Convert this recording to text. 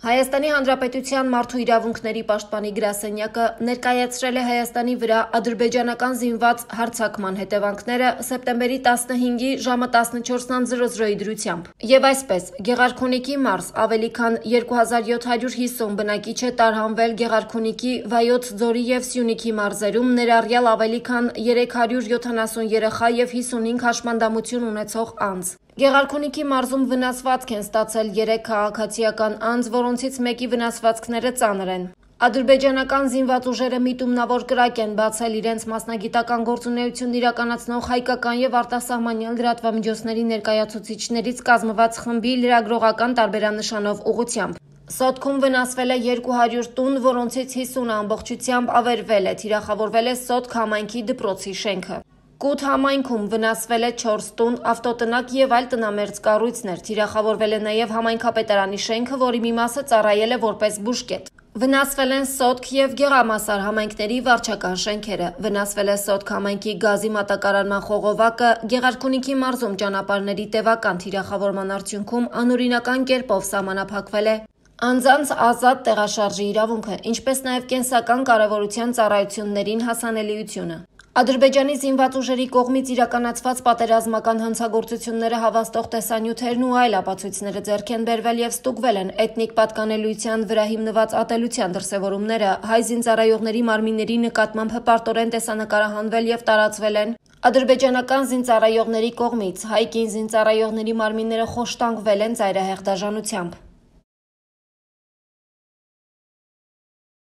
Հայաստանի Հանրապետության մարդու իրավունքների պաշտպանի գրասենյակը ներկայացրել է Հայաստանի վրա ադրբեջանական զինված հարձակման հետևանքները սեպտեմբերի 15-ի ժամը 14:00-ի դրությամբ։ Եվ այսպես, Գեղարքունիքի մարզ ավելի քան 2750 բնակիչ է տարհանվել Գեղարքունիքի, Վայոց ձորի և Սյունիքի մարզերում, ներառյալ ավելի քան 370 երեխա և 55 հաշմանդամություն ունեցող անձ։ Գեղարքունիքի մարզում վնասվածք են ստացել 3 քաղաքացիական անձ, որոնցից մեկի վնասվածքները ծանր են։ Ադրբեջանական զինված ուժերը միտումնավոր կրակ են բացել իրենց մասնագիտական գործունեություն իրականացնող հայկական և արտասահմանյան լրատվամիջոցների ներկայացուցիչներից կազմված խմբի լրագրողական տարբերանշանով ուղղությամբ։ Սոտքում վնասվել է 200 տուն, որոնցից 50-ը ամբողջությամբ ավերվել է, թիրախավորվել է Սոտք համայնքի դպրոցի շենքը։ Կութ համայնքում վնասվել է 4 տուն, ավտոտնակ և այլ տնամերձ կառույցներ, թիրախավորվել է նաև համայնքապետարանի շենքը, որի մի մասը ծառայել է որպես բուժկետ։ Վնասվել են Սոտք և Գեղամասար համայնքների վարչական շենքերը, վնասվել է Սոտք համայնքի գազի մատակարարման խողովակը, Գեղարքունիքի մարզում ճանապարհների տևական թիրախավորման արդյունքում անօրինական կերպով սահմանափակվել է անձանց ազատ տեղաշարժի իրավունքը, ինչպես նաև կենսական կարևորության ծառայություններին հասանելիությունը։ Ադրբեջանի զինված ուժերի կողմից իրականացված պատերազմական հանցագործությունները հավաստող տեսանյութերն ու այլ ապացույցները ձեռք են բերվել և ստուգվել են էթնիկ պատկանելիության վրա հիմնված ատելության դրսևորումները, հայ զինծառայողների մարմինների նկատմամբ հպարտորեն տեսանկարահանվել և տարածվել են ադրբեջանական զինծառայողների կողմից, հայ կին զինծառայողների մարմինները խոշտանգվել են ծայրահեղ դաժանությամբ։